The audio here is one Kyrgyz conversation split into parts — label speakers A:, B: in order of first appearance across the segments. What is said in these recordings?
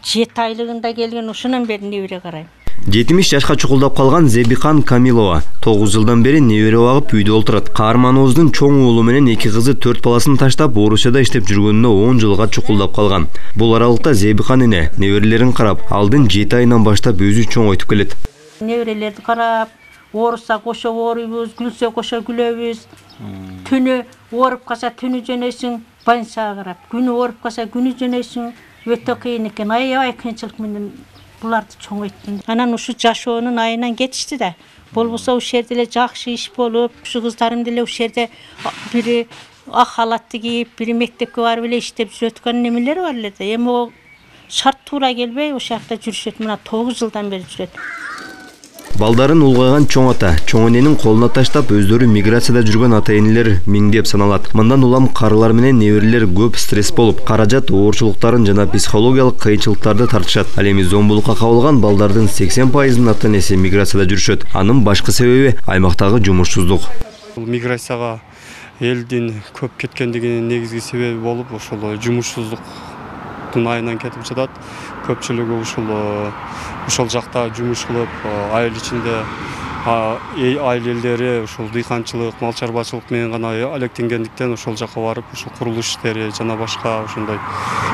A: 7 айлыгында келген, ушунан бери небере карайм.
B: 70 жашка чукулдап калган Зебихан Камилова 9 жылдан бери небере багып үйдө отурат. Каармановдун чоң уулу менен 2 кызы 4 баласын таштап Орусияда иштеп жүргөнүнө 10 жылга чукулдап калган. Бул аралыкта Зебихан эне неберелерин карап, алдын 7 айынан баштап өзү чоңойтуп келет.
A: Неберелерди карап, оорусса кошо ооруйбуз, күлсө кошо күлөбүз. Түнү ооруп калса түнү жөнөйсүң, больницага карап. Күнү ооруп калса күнү жөнөйсүң. Өтө кыйын экен. Аябай кыйынчылык менен буларды чоңойттум. Анан ушу жашоонун айынан кетишти да. Болбосо ушул жерде эле жакшы иш болуп, ушу кыздарым деле ушул жерде бири ак халатты кийип, бири мектепке барып эле иштеп жүрөткөн немелер бар эле да. Эми о шарт туура келбей ошол жакта жүрүшөт. Мына 9 жылдан бери жүрөт.
B: Балдарын улгайган чоң ата, чоң эненин колуна таштап өздөрү миграцияда жүргөн ата-энелер миңдеп саналат. Мындан улам карылар менен неберелер көп стресс болуп, каражат оорчулуктарын жана психологиялык кыйынчылыктарды тартышат. Ал эми зомбулукка кабылган балдардын 80%-ын ата-энеси миграцияда жүрүшөт. Анын башкы себеби аймактагы жумушсуздук.
C: Миграцияга элдин көп кеткендигинин негизги себеби болуп, ошол жумушсуздуктун айынан кетип жатат. Көпчүлүгү ушул жакта жумуш кылып, айыл ичинде айлелери ушул дыйканчылык, мал чарбачылык менен гана алектенгендиктен ошол жака барып, ушул курулуш иштери жана башка ошондой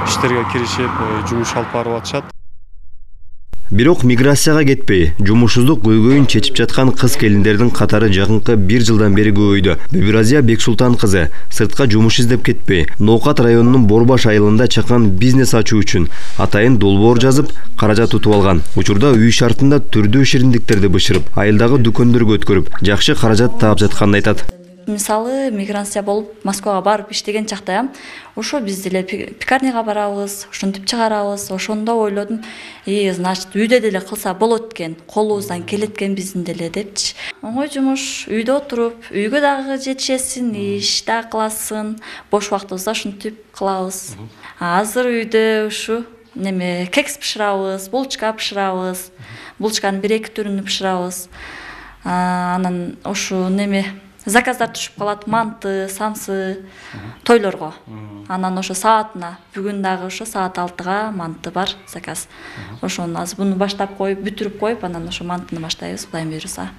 C: иштерге киришип, жумуш алып барып атышат.
B: Бирок миграцияга кетпей, жумушсуздук көйгөйүн чечип жаткан кыз-келиндердин катары жакынкы 1 жылдан бери көбөйдү. Бибиразия Бексултан кызы сыртка жумуш издеп кетпей, Ноокат районунун Борбаш айылында чакан бизнес ачуу үчүн атайын долбоор жазып, каражат утуп алган. Учурда үй шартында түрдүү шириндиктерди бышырып, айылдагы дүкөндөргө өткөрүп, жакшы каражат таап жатканын айтат.
D: Мисалы, миграция болуп, Москвага барып иштеген чакта, ошо биз деле пекарняга барабыз, ушинтип чыгарабыз. Ошондо ойлодум, значит, үйдө деле кылса болот экен, колубуздан келет экен биздин деле депчи. Оңой жумуш, үйдө отуруп, үйгө дагы жетишесиң, иш да кыласың, бош убактыбызда ушинтип кылабыз. Азыр үйдө ушу кекс бышырабыз, булочка бышырабыз. Булочканын 1-2 түрүн бышырабыз. Анан ушу заказдар түшүп калат, манты, самсы, тойлорго. Анан ошо саатына, бүгүн дагы ошо саат 6-га манты бар заказ. Ошону азыр буну баштап коюп, бүтүрүп коюп, анан ошо мантыны баштайбыз, Кудайым буйруса.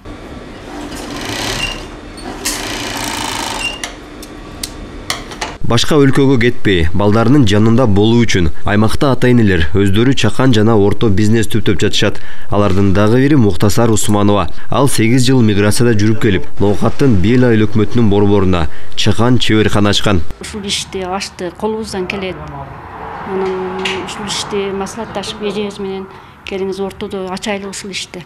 B: Башка өлкөгө кетпей, балдарынын жанында болуу үчүн аймакта ата-энелер өздөрү чакан жана орто бизнес түптөп жатышат. Алардын дагы бири Муктасар Усманова. Ал 8 жыл миграцияда жүрүп келип, Ноокаттын Бел айыл өкмөтүнүн борборуна чакан чеберкана ачкан.
A: Ушул ишти ачты, колубуздан келет. Анан ушул ишти маслатташып эжебиз менен келиңиз ортодо ачайлы ушул ишти.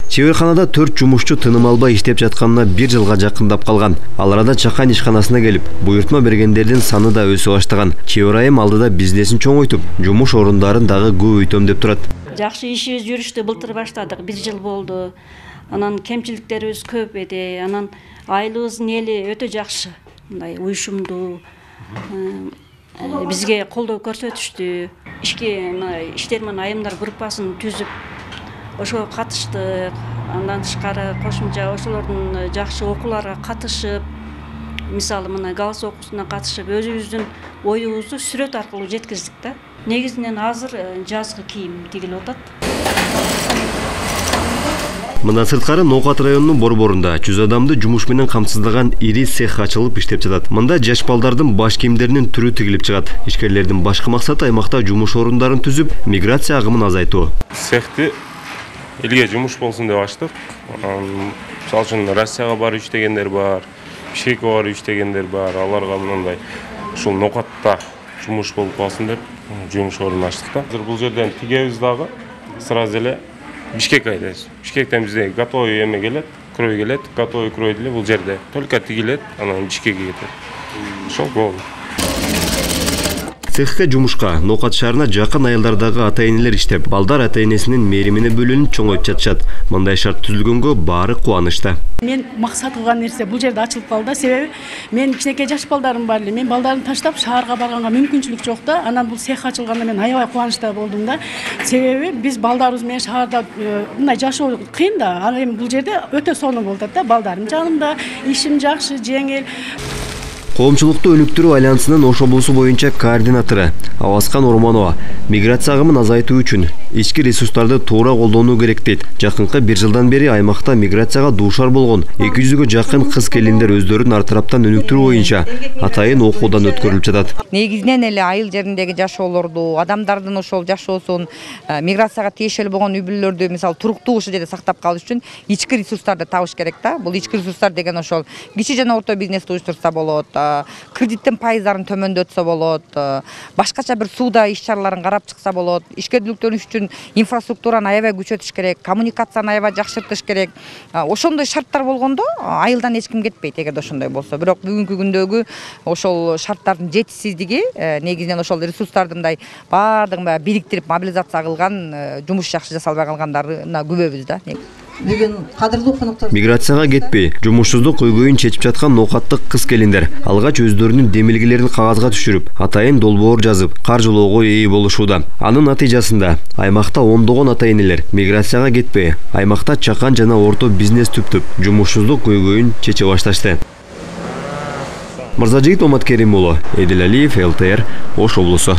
B: Чеберканада 4 жумушчу тыным албай иштеп жатканына 1 жылга жакындап калган. Ал арада чакан ишканасына келип, буйртма бергендердин саны да өсө баштаган. Чебер айым алдыда бизнесин чоңойтуп, жумуш орундарын дагы көбөйтөм деп турат.
A: Жакшы ишибиз жүрүштү былтыр баштадык, 1 жыл болду. Анан кемчиликтерибиз көп эди. Анан айылыбыздын эли өтө жакшы, мындай уюшумдуу. Бизге колдоо көрсөтүштү. Иштер менен айымдар группасын түзүп ошого катыштык. Андан тышкары кошумча ошолордун жакшы окууларга катышып, мисалы мына галс окуусуна катышып, өзүбүздүн оюбузду сүрөт аркылуу жеткиздик да. Негизинен азыр жазгы кийим тигилип атат.
B: Мындан сырткары Ноокат районунун борборунда 100 адамды жумуш менен камсыздаган ири цех ачылып иштеп жатат. Мында жаш балдардын баш кийимдеринин түрү тигилип чыгат. Ишкерлердин башкы максаты аймакта жумуш орундарын түзүп, миграция агымын азайтуу.
E: Цехти элге жумуш болсун деп ачтык. Мисалы үчүн Россияга барып иштегендер бар, Бишкекке барып иштегендер бар. Аларга мындай ушул Ноокатта жумуш болуп калсын деп жумуш орун ачтык да. Азыр бул жерден тигебиз дагы, сразу эле Бишкекке айдайбыз. Бишкектен бизде готовый эме келет, крой келет, готовый крой деле бул жерде только тигилет, анан Бишкекке кетет. Ошол болду.
B: Цехке жумушка Ноокат шаарына жакын айылдардагы ата-энелер иштеп, балдар ата-энесинин мээримине бөлүнүп чоңоюп жатышат. Мындай шарт түзүлгөнгө баары кубанычта.
F: Мен максат кылган нерсе бул жерде ачылып калды. Себеби мен кичинекей жаш балдарым бар эле. Мен балдарымды таштап шаарга барганга мүмкүнчүлүк жок да. Анан бул цех ачылганда мен аябай кубанычта болдум да. Себеби биз балдарыбыз менен шаарда мындай жашоо кыйын да. Ал эми бул жерде өтө сонун болуп атат да. Балдарым жанымда, ишим жакшы, жеңил.
B: Коомчулукту өнүктүрүү альянсынын Ош облусу боюнча координатору Аваскан Орманова миграция агымын азайтуу үчүн ички ресурстарды туура колдонуу керек дейт. Жакынкы 1 жылдан бери аймакта миграцияга дуушар болгон 200-гө жакын кыз-келиндер өздөрүн ар тараптан өнүктүрүү боюнча атайын окуудан өткөрүлүп жатат.
G: Негизинен эле айыл жериндеги жашоолорду, адамдардын ошол жашоосун, миграцияга тиешелүү болгон үй-бүлөлөрдү мисалы туруктуу ушул жерде сактап калыш үчүн ички ресурстарды табыш керек да. Бул ички ресурстар деген ошол кичи жана орто бизнести уюштурса болот, кредиттин пайыздарын төмөндөтсө болот, башкача бир сууда иш-чараларын карап чыкса болот. Ишкерликтөнүш үчүн инфраструктураны аябай күчөтүш керек, коммуникацияны аябай жакшыртыш керек. Ошондой шарттар болгондо айылдан эч ким кетпейт эгерде ошондой болсо. Бирок бүгүнкү күндөгү ошол шарттардын жетишсиздиги негизинен ошол ресурстарды мындай баардыгын бириктирип мобилизация кылган, жумуш жакшы жасалбай калгандарына күбөбүз да.
H: Бүгүн кадырлуу коноктор
B: миграцияга кетпей, жумушсуздук көйгөйүн чечип жаткан ноокаттык кыз-келиндер алгач өздөрүнүн демилгелерин кагазга түшүрүп, атайын долбоор жазып, каржылоого ээ болушууда. Анын натыйжасында аймакта ондогон ата-энелер миграцияга кетпей, аймакта чакан жана орто бизнес түптүп, жумушсуздук көйгөйүн чече башташты. Мырзажигит Оматкерим уулу, Эдил Алиев, ЛТР, Ош облусу.